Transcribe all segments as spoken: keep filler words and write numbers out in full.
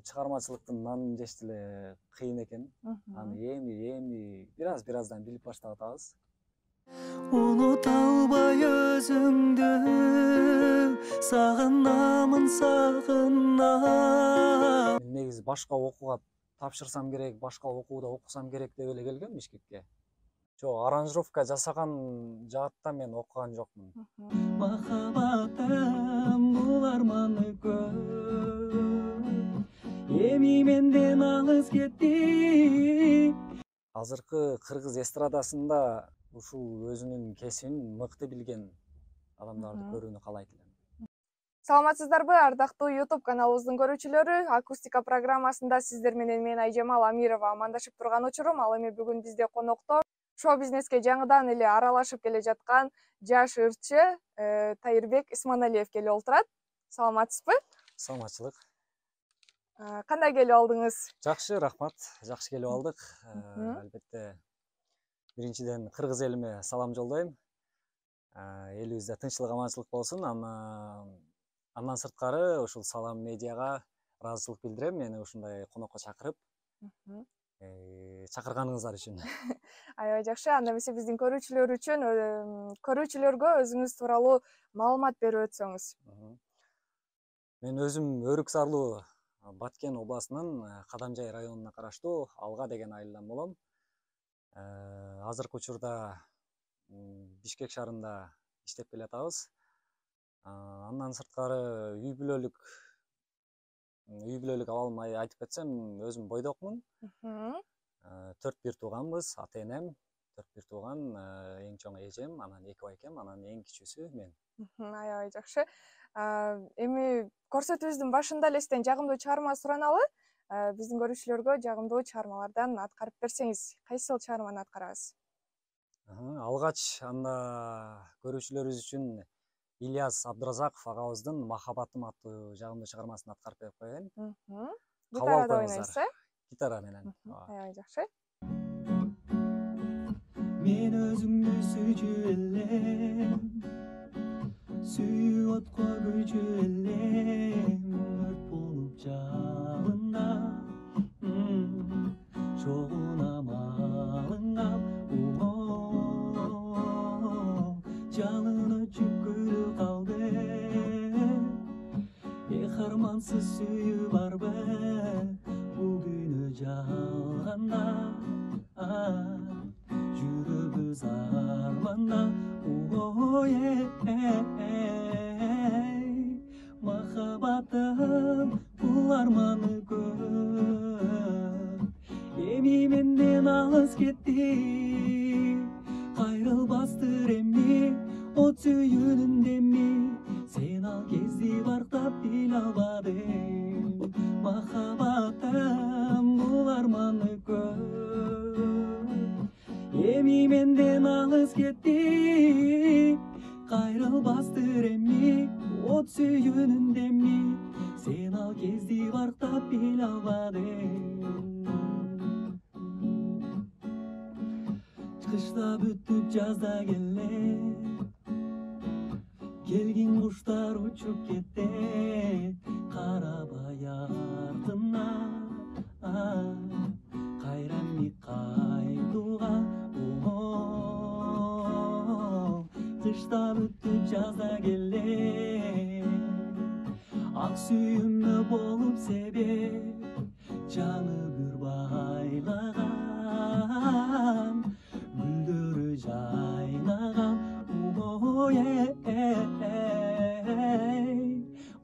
чыгармачылыктын нанын жеш деле кыйын экен. Аны эми эми бираз бираздан билип баштап атабыз. Унута албай өзүңдү сагынамын сагынам. Мен негизи башка окууга тапшырсам керек, башка окууда окусам керек деп эле келгем Бишкекке. Жок, аранжировка жасаган жаатта мен окуган жокмун. Махаббатым бул арманы көп, эми менден алыс кетти. Азыркы кыргыз эстрадасында ушул өзүнүн кесибин мыкты билген адамдарды көрүүнү каалайт элем. Саламатсыздарбы, ардактуу YouTube каналыбыздын көрүүчүлөрү? Акустика программасында сиздер менен мен Айжамал Амирова амандашып турган учурум. Ал эми бүгүн бизде конокто шоу-бизнеске жаңыдан эле аралашып келе жаткан жаш ырчы Тайырбек Исманалиев келип олтурат. Саламатсызбы? Саламатчылык. Кандай келип алдыңыз? Жакшы, рахмат. Жакшы келип алдык. Албетте биринчиден кыргыз элиме салам жолдойм. Элибизде тынччылык, аманчылык болсун. Андан сырткары ушул Салам медиага ыраазычылык билдирем мени ушундай конокко чакырып, чакырганыңыздар үчүн. Аябай жакшы. Анда эмесе биздин көрүүчүлөр үчүн көрүүчүлөргө өзүңүз тууралуу маалымат берип өтсөңүз. Мен өзүм Өрүк Сарлуу Баткен областынын Кадамжай районуна караштуу Алга деген айылдан болом. Азыркы учурда Бишкек шаарында иштеп келатабыз. Андан сырткары үй бүлөлүк үй бүлөлүк абалымды айтып кетсем, өзүм бойдокмун. Төрт бир тууганбыз, ата-энем, төрт бир тууган, эң чоң эжем, анан эки байкем, анан эң кичүүсү мен. Аябай жакшы. Эми көрсөтүүбүздүн башында элестен жагымдуу чыгарма сураналы. Биздин көрүүчүлөргө жагымдуу чыгармалардан аткарып берсеңиз, кайсыл чыгарманы аткарабыз? Алгач анда көрүүчүлөрүбүз үчүн Ильяс Абдыразаков агабыздын Махаббатым аттуу жагымдуу чыгармасын аткарып берип коеюн. Гитарада ойнойсуз, э? Гитара менен. Аябай жакшы. Мен өзүмдү сүйчү элем, сүйүп отко күйчү элем, өрт болуп жалында, чогуна малыңа, жалын өчүп күлү калды, эх армансыз сүйүү барбы, бул күнү жалганда, жүрөбүз арманда, махаббатым бул арманы көп, эми менден алыс кетти, кайрылбастыр эми от сүйүүнүн деми, сен ал кезди бартап биле албадың, махаббатым бул арманы көп, эми менден алыс кетти, кайрылбастыр эми от сүйүүнүн деми, сен ал кезди бартап биле албадың. Кышта бүтүп жазда келе, келгин куштар учуп кетти, карабай артына, кайра эми кайтууга, кышта бүтүп жазда келе, ак сүйүүмө болуп себеп, жаны бүр байлаган, гүлдөрү жайнаган,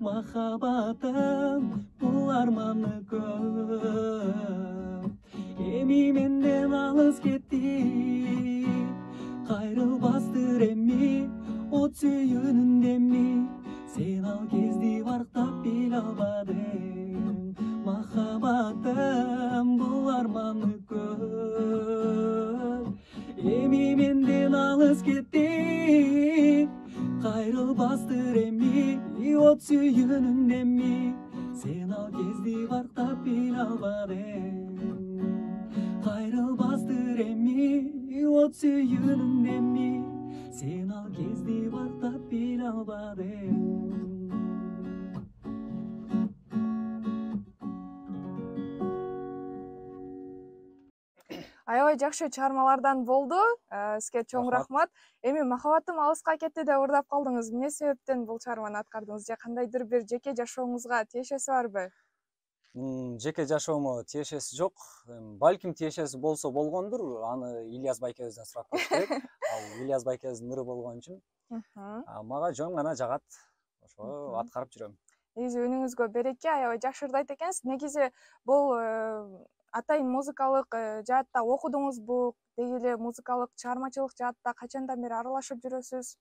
махаббатым бул арманы көп, эми менден алыс кетти, кайрылбастыр эми от сүйүүнүн деми, сен ал кезди бартап биле албадың, махаббатым бул арманы көп, эми менден алыс кетти, кайрылбастыр эми от сүйүүнүн деми, сен ал кезди бартап биле албадың, кайрылбастыр эми от сүйүүнүн деми, сен ал кезди бартап биле албадың. Аябай жакшы чыгармалардан болду. Сизге чоң рахмат. Эми Махабатым алыска кетти деп ырдап калдыңыз. Эмне себептен бул чыгарманы аткардыңыз же кандайдыр бир жеке жашооңузга тиешеси барбы? Жеке жашоомо тиешеси жок. Балким тиешеси болсо болгондур. Аны Ильяс байкебизден сурап көрүш керек. Ал Ильяс байкебиздин ыры болгон үчүн мага жөн гана жагат. Ошо аткарып жүрөм. Негизи үнүңүзгө береке, аябай жакшы ырдайт экенсиз. Негизи бул атайын музыкалык жаатта окудуңузбу? Деги эле музыкалык чыгармачылык жаатта качандан бери аралашып жүрөсүз?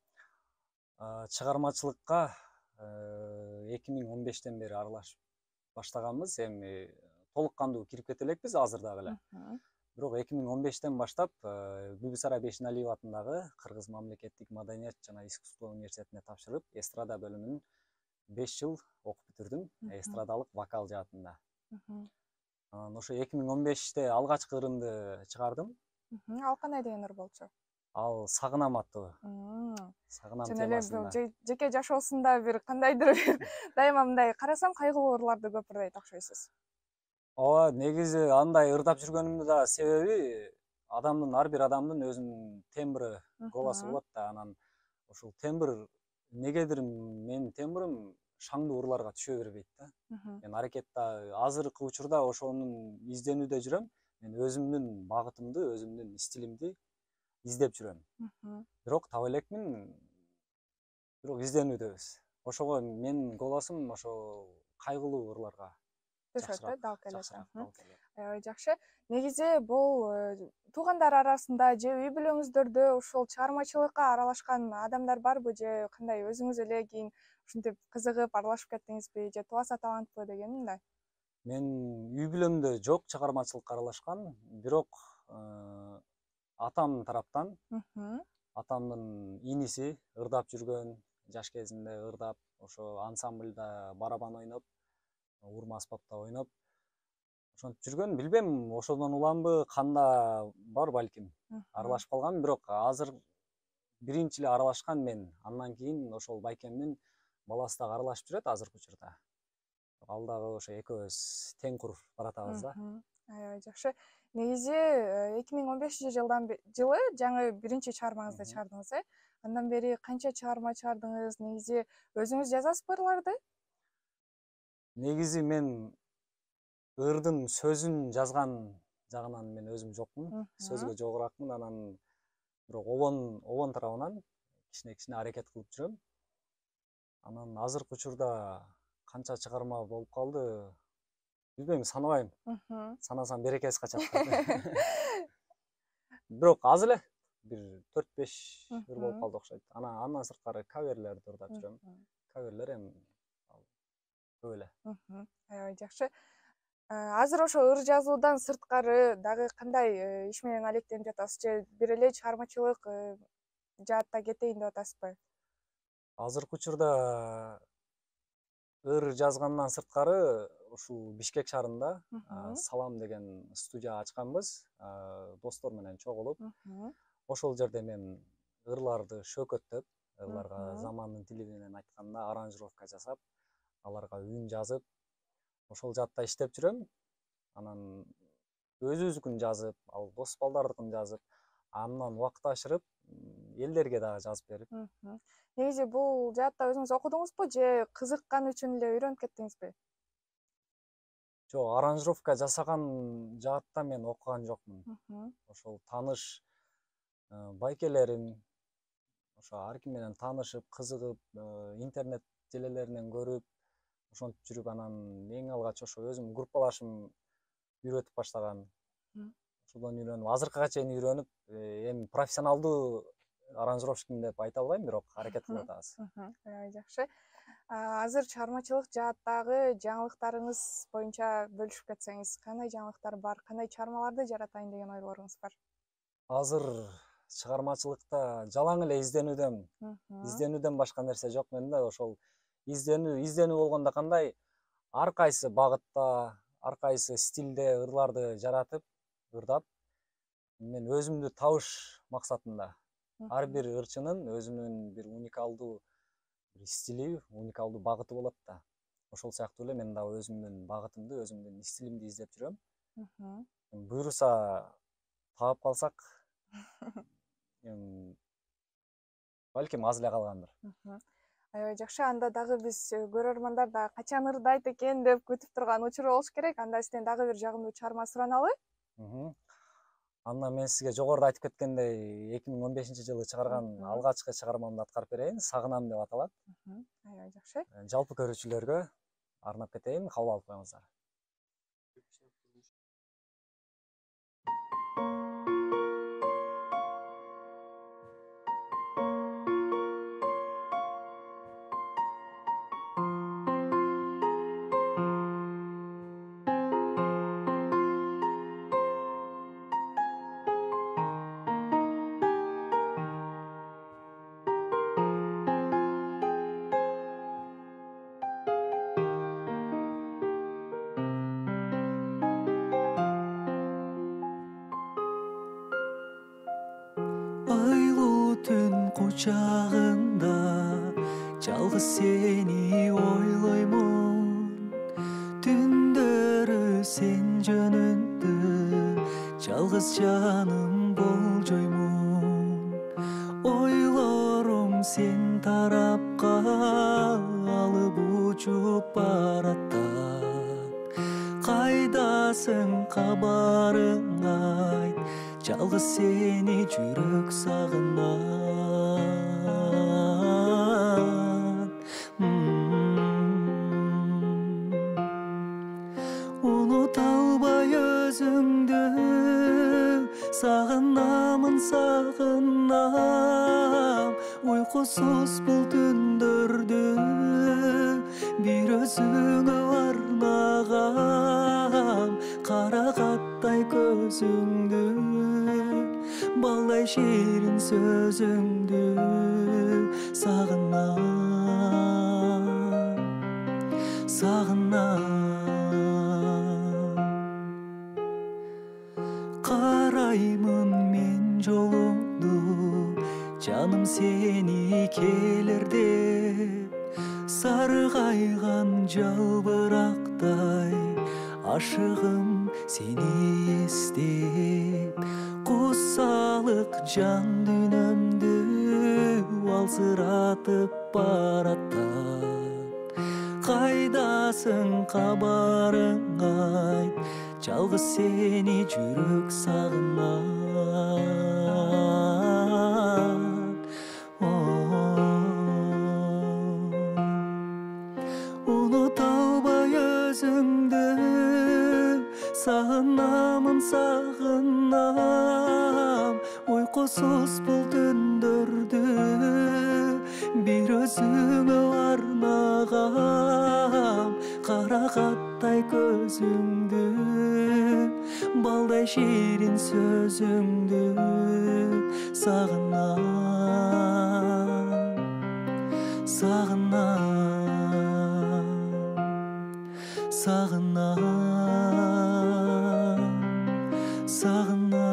Чыгармачылыкка эки миң он бештен бери аралашып баштаганбыз. Эми толук кандуу кирип кете элекпиз азыр дагы эле. Бирок эки миң он бештен баштап Бүбүсара Бешиналиева атындагы Кыргыз мамлекеттик маданият жана искусство университетине тапшырып, эстрада бөлүмүн беш жыл окуп бүтүрдүм, эстрадалык вокал жаатында. Анан ошо эки миң он беште алгачкы ырымды чыгардым. Ал кандай деген ыр болчу? Ал Сагынам аттуу. Сагынам темасында. Жана эле жеке жашоосунда бир кандайдыр дайыма мындай карасам кайгылуу ырларды көп ырдайт окшойсуз. Ооба, негизи андай ырдап жүргөнүмдүн да себеби адамдын ар бир адамдын өзүнүн тембры, голосу болот да. Анан ошол тембр негедир менин тембрим шаңдуу ырларга түшө бербейт да. Мен аракетте азыркы учурда ошонун изденүүдө жүрөм. Мен өзүмдүн багытымды, өзүмдүн стилимди издеп жүрөм. Бирок таба элекмин, бирок изденүүдөбүз. Ошого менин голосум ошо кайгылуу ырларга жакшыраак дал келет. Аябай жакшы. Негизи бул туугандар арасында же үй бүлөңүздөрдө ушул чыгармачылыкка аралашкан адамдар барбы же кандай, өзүңүз эле кийин ушинтип кызыгып аралашып кеттиңизби же тубаса талантпы деген мындай? Мен үй бүлөмдө жок чыгармачылыкка аралашкан, бирок атам тараптан, атамдын иниси ырдап жүргөн, жаш кезинде ырдап, ошо ансамбльда барабан ойноп, урма аспапта ойноп, ошентип жүргөн. Билбейм, ошодон уламбы, канда бар балким. Аралашып калган, бирок азыр биринчи эле аралашкан мен. Андан кийин ошол байкемдин баласы дагы аралашып жүрөт азыркы учурда. Ал дагы ошо экөөбүз тең куруп баратабыз да. Аябай жакшы. Негизи эки миң он бешинчи жылдан жылы жаңы биринчи чыгармаңызды чыгардыңыз, э? Андан бери канча чыгарма чыгардыңыз? Негизи өзүңүз жазасызбы ырларды? Негизи мен ырдын сөзүн жазган жагынан мен өзүм жокмун. Сөзгө жогоракмын. Анан бирок обон обон тарабынан кичине-кичине аракет кылып жүрөм. Анан азыркы учурда канча чыгарма болуп калды? Билбейм, санабайм. Санасам берекеси качат. Бирок аз эле, бир төрт беш ыр болуп калды окшойт. Анан андан сырткары каверлерди ырдап жүрөм. Каверлер эми көп эле. Аябай жакшы. Азыр ошо ыр жазуудан сырткары дагы кандай иш менен алектенип жатасыз? Же бир эле чыгармачылык жаатта кетейин деп атасызбы? Азыркы учурда ыр жазгандан сырткары ушул Бишкек шаарында Салам деген студия ачканбыз, достор менен чогулуп. Ошол жерде мен ырларды шөкөттөп, ырларга замандын тили менен айтканда аранжировка жасап, аларга үн жазып, ошол жаатта иштеп жүрөм. Анан өзүбүздүкүн жазып, ал дос балдардыкын жазып, андан убакыт ашырып, элдерге дагы жазып берип. Негизи бул жаатта өзүңүз окудуңузбу же кызыккан үчүн эле үйрөнүп кеттиңизби? Жок, аранжировка жасаган жаатта мен окуган жокмун. Ошол тааныш байкелерим, ошо ар ким менен таанышып, кызыгып, интернет желелеринен көрүп, ошентип жүрүп, анан эң алгач ошо өзүм группалашым үйрөтүп баштаган. Ошодон үйрөнүп, азыркыга чейин үйрөнүп, эми профессионалдуу аранжировщикмин деп айта албайм, бирок аракет кылып атабыз. Аябай жакшы. Азыр чыгармачылык жааттагы жаңылыктарыңыз боюнча бөлүшүп кетсеңиз, кандай жаңылыктар бар, кандай чыгармаларды жаратайын деген ойлоруңуз бар? Азыр чыгармачылыкта жалаң эле изденүүдөм. Изденүүдөн башка нерсе жок менде. Ошол изденүү, изденүү болгондо кандай, ар кайсы багытта, ар кайсы стилде ырларды жаратып, ырдап, мен өзүмдү табыш максатында. Ар бир ырчынын өзүнүн бир уникалдуу бир стили, уникалдуу багыты болот да. Ошол сыяктуу эле мен дагы өзүмдүн багытымды, өзүмдүн стилимди издеп жүрөм. Буюрса таап калсак эми балким аз эле калгандыр. Аябай жакшы. Анда дагы биз көрөрмандар да качан ырдайт экен деп күтүп турган учур болуш керек. Анда сизден дагы бир жагымдуу чыгарма сураналы. Андан мен сизге жогоруда айтып кеткендей эки миң он бешинчи жылы чыгарган алгачкы чыгармамды аткарып берейин. Сагынам деп аталат. Аябай жакшы. Жалпы көрүүчүлөргө арнап кетейин, кабыл алып коюңуздар. Айлуу түн кучагында жалгыз сени ойлоймун. Түндөрү сен жөнүндө жалгыз жаным болжоймун. Ойлорум сен тарапка алып учуп баратат. Кайдасың, кабарың айт, жалгыз сени жүрөк сагынат. Унута албай өзүңдү, сагынамын, сагынам. Уйкусуз бул түндөрдү бир өзүңө арнагам. Карагаттай көзүңдү, балдай ширин сөзүңдү сагынам, сагынам. Караймын мен жолуңду, жаным сени келер деп. Саргайган жалбырактай ашыгым сени эстеп. Кусалык жан дүйнөмдү алсыратып баратат. Кайдасың, кабарың айт, жалгыз сени жүрөк сагынат. Унута албай өзүңдү, сагынамын, сагынам. Уйкусуз бул түндөрдү бир өзүңө арнагам. Карагаттай көзүңдү, балдай ширин сөзүңдү сагынам, сагынам, сагынам, сагынам.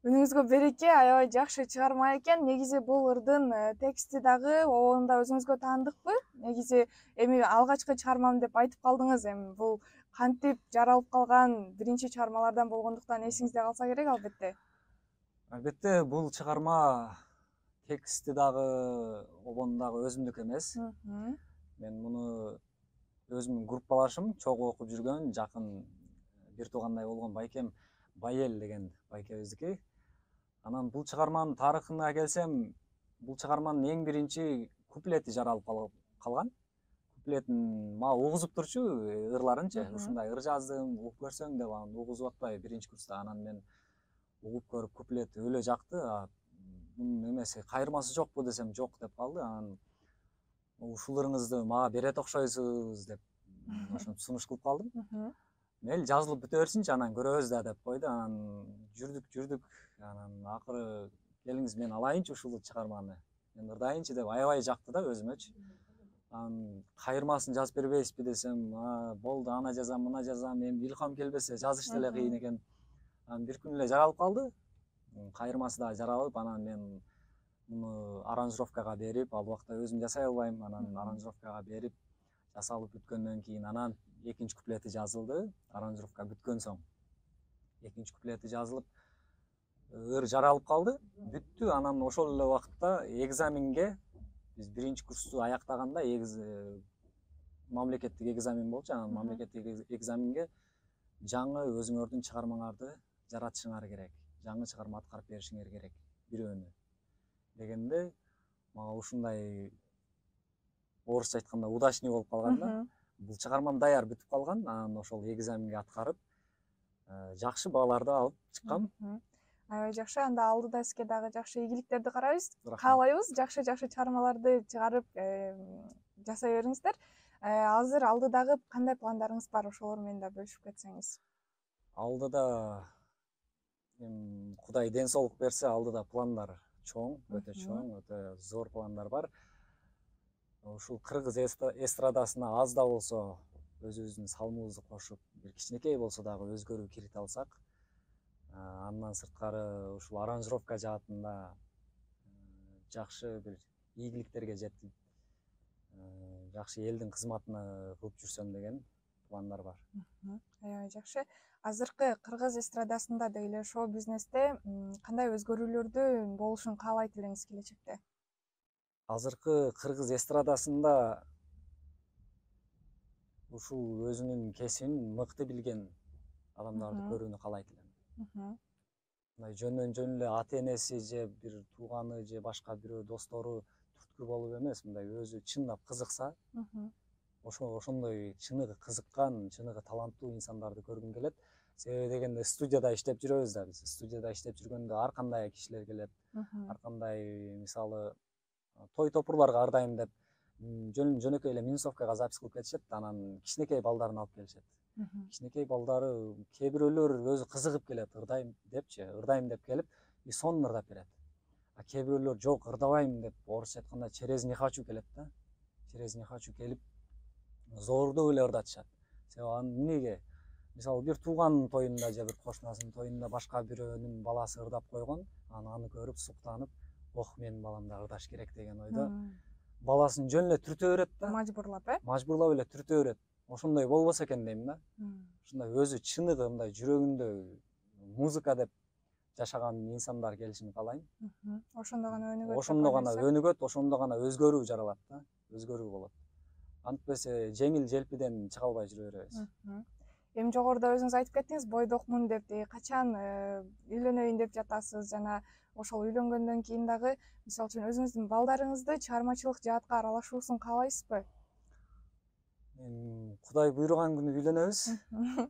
Үнүңүзгө береке, аябай жакшы чыгарма экен. Негизи бул ырдын тексти дагы обондо өзүңүзгө таандыкпы? Негизи эми алгачкы чыгармам деп айтып калдыңыз. Эми бул кантип жаралып калган биринчи чыгармалардан болгондуктан эсиңизде калса керек албетте. Албетте бул чыгарма тексти дагы обону дагы өзүмдүкү эмес. Мен муну өзүмдүн группалашым, чогуу окуп жүргөн, жакын бир туугандай болгон байкем Байел деген байкебиздики. Анан бул чыгарманын тарыхына келсем, бул чыгарманын эң биринчи куплети жаралып калган. Куплетин мага угузуп турчу ырларынчы, ушундай ыр жаздым, угуп көрсөң деп, анан угузуп атпай биринчи курста. Анан мен угуп көрүп куплет өлө жакты. Мунун эмеси кайырмасы жокпу десем жок деп калды. Анан ушул ырыңызды мага берет окшойсуз деп ошентип сунуш кылып калдым. Мейли жазылып бүтө берсинчи, анан көрөбүз да деп койду. Анан жүрдүк, жүрдүк. Анан акыры келиңиз мен алайынчы ушул чыгарманы. Мен ырдайынчы деп аябай жакты да өзүмөчү. Анан кайырмасын жазып бербейсизби десем, болду, ана жазам, мына жазам, эми илхам келбесе жазыш деле кыйын экен. Анан бир күн эле жаралып калды. Кайырмасы да жаралып, анан мен муну аранжировкага берип, ал убакта өзүм жасай албайм, анан аранжировкага берип, жасалып бүткөндөн кийин анан экинчи куплети жазылды. Аранжировка бүткөн соң экинчи куплети жазылып ыр жаралып калды, бүттү. Анан ошол эле убакытта экзаменге биз биринчи курсту аяктаганда мамлекеттик экзамен болчу. Анан мамлекеттик экзаменге жаңы өзүңөрдүн чыгармаңарды жаратышыңар керек, жаңы чыгарма аткарып беришиңер керек бирөөнү дегенде, мага ушундай орусча айтканда удачный болуп калган да. Бул чыгармам даяр бүтүп калган. Анан ошол экзаменге аткарып жакшы бааларды алып чыккам. Аябай жакшы. Анда алдыда сизге дагы жакшы ийгиликтерди карайбыз. Каалайбыз жакшы-жакшы чыгармаларды чыгарып жасай бериңиздер. Азыр алдыдагы кандай пландарыңыз бар? Ошолор менен да бөлүшүп кетсеңиз. Алдыда эми Кудай ден соолук берсе, алдыда пландар чоң, өтө чоң, өтө зор пландар бар. Ушул кыргыз эстрадасына аз да болсо өзүбүздүн салымыбызды кошуп, бир кичинекей болсо дагы өзгөрүү кирите алсак, андан сырткары ушул аранжировка жаатында жакшы бир ийгиликтерге жетип, жакшы элдин кызматына кылып жүрсөм деген пландар бар. Аябай жакшы. Азыркы кыргыз эстрадасында деги шоу бизнесте кандай өзгөрүүлөрдү болушун каалайт элеңиз келечекте? Азыркы кыргыз эстрадасында ушул өзүнүн кесибин мыкты билген адамдарды көрүүнү каалайт элем. Мындай жөндөн жөн эле ата энеси же бир тууганы же башка бирөө достору түрткү болуп эмес, мындай өзү чындап кызыкса, ошо ошондой чыныгы кызыккан, чыныгы таланттуу инсандарды көргүм келет. Себеби дегенде студияда иштеп жүрөбүз да биз. Студияда иштеп жүргөндө ар кандай кишилер келет. Ар кандай, мисалы, той топурларга ар дайым деп жөн жөнөкөй эле минусовкага запись кылып кетишет, анан кичинекей балдарын алып келишет. Кичинекей балдары кээ бирөөлөр өзү кызыгып келет, ырдайм депчи, ырдайм деп келип, и сонун ырдап берет. А кээ бирөөлөр жок, ырдабайм деп, орусча айтканда через не хочу келет да. Через не хочу келип, зордоп эле ырдатышат. Себеби анын эмнеге? Мисалы, бир тууганын тоюнда же бир кошунасынын тоюнда башка бирөөнүн баласы ырдап койгон, анан аны көрүп суктанып, ох, менин балам да ырдаш керек деген ойдо баласын жөн эле түртө берет да. Мажбурлап, э? Мажбурлап эле түртө берет. Ошондой болбосо экен дейм да. Ушундай өзү чыныгы мындай жүрөгүндө музыка деп жашаган инсандар келишин каалайм. Ошондо гана өнүгөт. Ошондо гана өнүгөт, ошондо гана өзгөрүү жаралат да. Өзгөрүү болот. Антпесе жеңил желпиден чыга албай жүрө беребиз. Эми жогоруда өзүңүз айтып кеттиңиз, бойдокмун деп, качан үйлөнөйүн деп жатасыз жана ошол үйлөнгөндөн кийин дагы, мисалы үчүн өзүңүздүн балдарыңызды чыгармачылык жаатка аралашуусун каалайсызбы? Эми Кудай буйруган күнү үйлөнөбүз.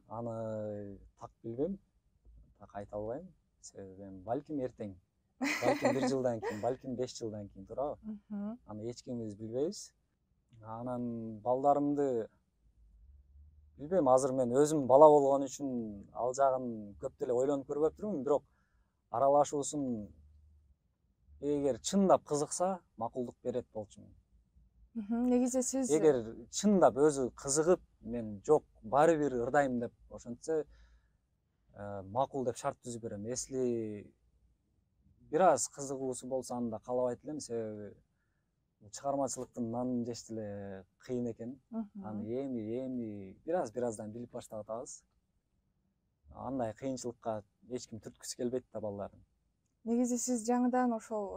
Аны так билбейм, так айта албайм. Себеби эми балким эртең, балким бир жылдан кийин, балким беш жылдан кийин, туурабы? Аны эч кимибиз билбейбиз. Анан балдарымды билбейм, азыр мен өзүм бала болгон үчүн ал жагын көп деле ойлонуп көрбөп турмун, бирок аралашуусун эгер чындап кызыкса, макулдук берет болчумун. Негизи сиз эгер чындап өзү кызыгып, мен жок, баары бир ырдайм деп ошентсе, макул деп шарт түзүп берем. Если бир аз кызыгуусу болсо, аны да каалабайт элем, себеби чыгармачылыктын нанын жеш деле кыйын экен. Аны эми эми бир аз бир аздан билип баштап атабыз. Андай кыйынчылыкка эч ким түрткүсү келбейт да балдарын. Негизи сиз жаңыдан ошол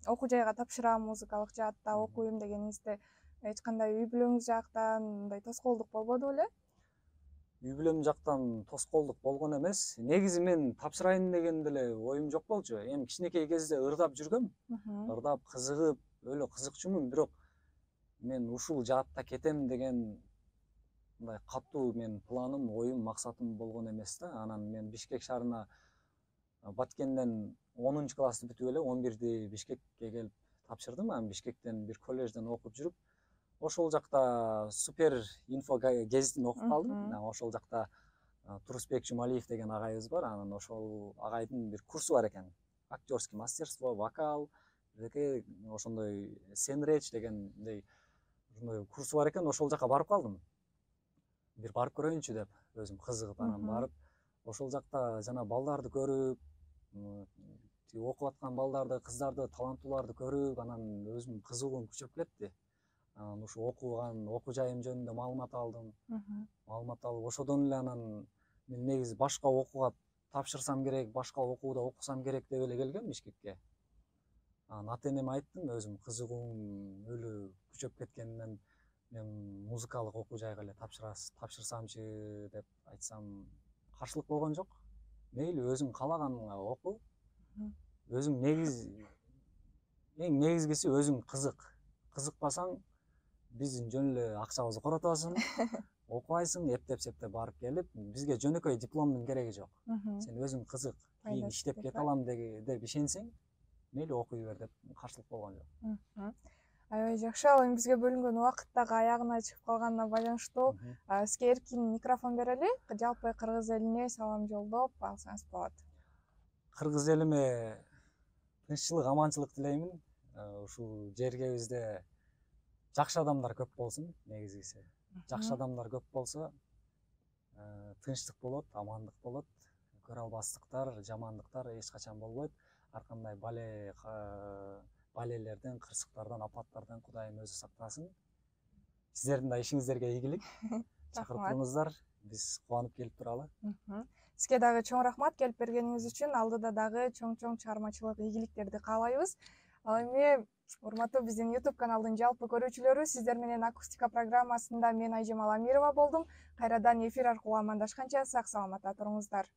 окуу жайга тапшырам, музыкалык жаатта окуйм дегениңизде эч кандай үй бүлөңүз жактан мындай тоскоолдук болбоду беле? Үй бүлөм жактан тоскоолдук болгон эмес. Негизи мен тапшырайын деген деле оюм жок болчу. Эми кичинекей кезде ырдап жүргөм. Ырдап кызыгып, өлө кызыкчумун, бирок мен ушул жаатта кетем деген мындай катуу мен планым, оюм, максатым болгон эмес да. Анан мен Бишкек шаарына Баткенден онунчу классты бүтүп эле он бирди Бишкекке келип тапшырдым. Анан Бишкектен бир коллежден окуп жүрүп, ошол жакта Супер инфо гезитин окуп калдым. Ошол жакта Турусбек Жумалиев деген агайыбыз бар. Анан ошол агайдын бир курсу бар экен. Актёрский мастерство, вокал, деги ошондой сцен-реч дегендей ошондой курсу бар экен. Ошол жака барып калдым. Бир барып көрөйүнчү деп, өзүм кызыгып, анан барып, ошол жакта жана балдарды көрүп, окуп аткан балдарды, кыздарды, таланттууларды көрүп, анан өзүм кызыгуум күчөп кетти. анан ушу окуган окуу жайым жөнүндө маалымат алдым. Маалымат алып ошодон эле анан мен негизи башка окууга тапшырсам керек, башка окууда окусам керек деп эле келгем Бишкекке. Анан ата энеме айттым, өзүм кызыгуум өлү күчөп кеткенинен мен музыкалык окуу жайга эле тапшырсамчы деп айтсам, каршылык болгон жок. Мейли өзүң каалаганыңа оку. Өзүң негизи эң негизгиси өзүң кызык. Кызыкпасаң биздин жөн эле акчабызды коротобосуң, окубайсың, эптеп-септеп барып келип, бизге жөнөкөй дипломдун кереги жок. Сен өзүң кызык, кийин иштеп кете алам деп ишенсең, мейли окуй бер деп каршылык болгон жок. Аябай жакшы. Ал эми бизге бөлүнгөн убакыт дагы аягына чыгып калганына байланыштуу сизге эркин микрофон берели. Жалпы кыргыз элине салам жолдоп алсаңыз болот. Кыргыз элиме тынччылык, аманчылык тилеймин. Ушул жергебизде жакшы адамдар көп болсун, негизгиси. Жакшы адамдар көп болсо, тынчтык болот, амандык болот. Көрө албастыктар, жамандыктар эч качан болбойт. Ар кандай бале балелерден, кырсыктардан, апаттардан Кудайым өзү сактасын. Сиздердин да ишиңиздерге ийгилик. Чакырып туруңуздар, биз кубанып келип туралы. Сизге дагы чоң рахмат келип бергениңиз үчүн. Алдыда дагы чоң-чоң чыгармачылык ийгиликтерди каалайбыз. Ал эми урматтуу биздин YouTube каналдын жалпы көрүүчүлөрү, сиздер менен акустика программасында мен Айжемал Амирова болдум. Кайрадан эфир аркылуу амандашканча сак саламатта туруңуздар.